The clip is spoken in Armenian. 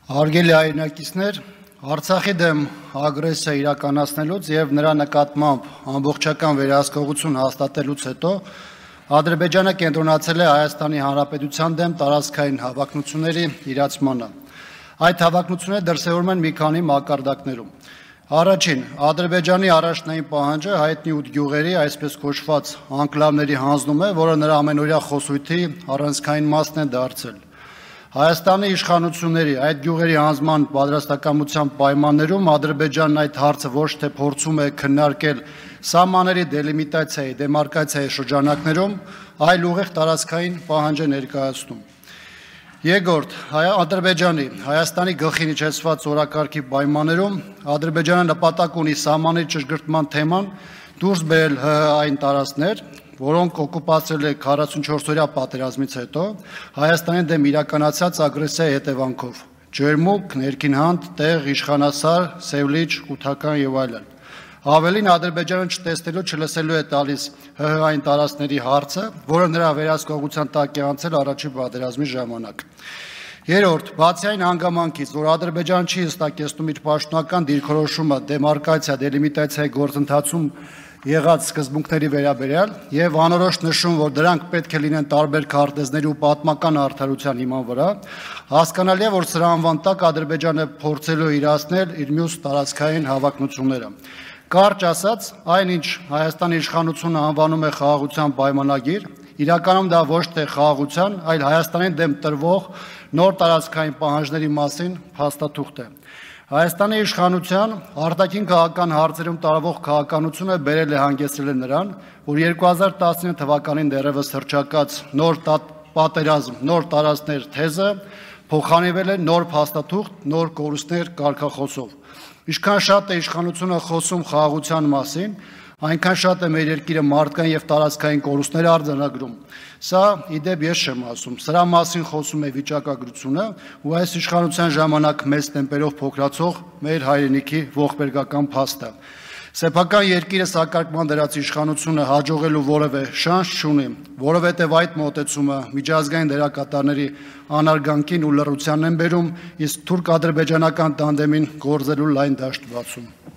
Հարգելի հայրենակիցներ, Արցախի դեմ ագրեսիա իրականացնելուց եւ նրա նկատմամբ ամբողջական վերահսկողություն հաստատելուց հետո Ադրբեջանը կենտրոնացել է Հայաստանի Հանրապետության դեմ տարածքային հավակնությունների իրացմանը։ Այդ հավակնությունները դրսևորվում են մի քանի մակարդակներում։ Առաջին, Ադրբեջանի առաջնային պահանջը հայտնի 8 գյուղերի, այսպես կոչված անկլավների հանձնում է, որը նրա ամենօրյա խոսույթի առանցքային մասն է դարձել։ Հայաստանի իշխանությունների այդ գյուղերի հանձնման պատրաստակամության պայմաններում Ադրբեջանն այդ հարցը ոչ թե փորձում է քննարկել սահմանների դելիմիտացիայի, դեմարկացիայի շրջանակներում, այլ ուղիղ տարածքային պահանջ է ներկայացնում։ Երկրորդ, Ադրբեջանի Հայաստանի գլխին իջեցված օրակարգի պայմաններում Ադրբեջանը նպատակ ունի սահմանների ճշգրտման թեման դուրս բերել այն տարածքներ, որոնք օկուպացրել է 44-օրյա պատերազմից հետո Հայաստանի դեմ իրականացած ագրեսիայի հետևանքով՝ ջերմուկ, ներքին տեղ, իշխանասար, սևլիչ, կութական եւ այլն։ Ավելին Ադրբեջանը չտեսնելու, չլսելու է տալիս այն տարածքների հարցը, որը նրա վերահսկողության տակ է անցել առաջին պատերազմի ժամանակ։ Երրորդ, բացի այն հանգամանքից, որ Ադրբեջանը չի հստակեցնում իր պաշտոնական դիրքորոշումը դեմարկացիա, դելիմիտացիայի գործընթացում եղած սկզբունքների վերաբերյալ եւ անորոշ նշում, որ դրանք պետք է լինեն տարբեր քարտեզների ու պատմական արդարության հիման վրա, հասկանալի է, որ սրա անվան տակ Ադրբեջանը փորձելու իրացնել իր մյուս տարածքային հավակնությունները։ Կարճ ասած, այնինչ Հայաստանի իշխանությունը անվանում է խաղաղության պայմանագիր, իրականում դա ոչ թե խաղաղության, այլ Հայաստանին դեմ տրվող նոր տարածքային պահանջների մասին փաստաթուղթ է։ Հայաստանի իշխանության արտաքին քաղաքական հարցերում տարվող քաղաքականությունը բերել է հանգեցրել է նրան, որ 2019 թվականին դեռևս հռչակած նոր պատերազմ, նոր տարածքներ թեզը փոխանցվել է նոր փաստաթուղթ, նոր կորուստներ կարգախոսով։ Ինչքան շատ է իշխանությունը խոսում խաղաղության մասին, այնքան շատ է մեր երկիրը մարդկային եւ տարածքային կորուստներ արձանագրում։ Սա իդեպ ես չեմ ասում, սրա մասին խոսում է վիճակագրությունը ու այս իշխանության ժամանակ մեծ տեմպերով փոքրացող մեր հայրենիքի ողբերգական փաստը։ Սեփական երկիրը սակարկման դրած իշխանությունը հաջողելու որևէ շանս չունի, որովհետև այդ մոտեցումը միջազգային դերակատարների անարգանքին ու լռությանն են բերում, իսկ թուրք-ադրբեջանական տանդեմին գործելու լայն դաշտ բացում։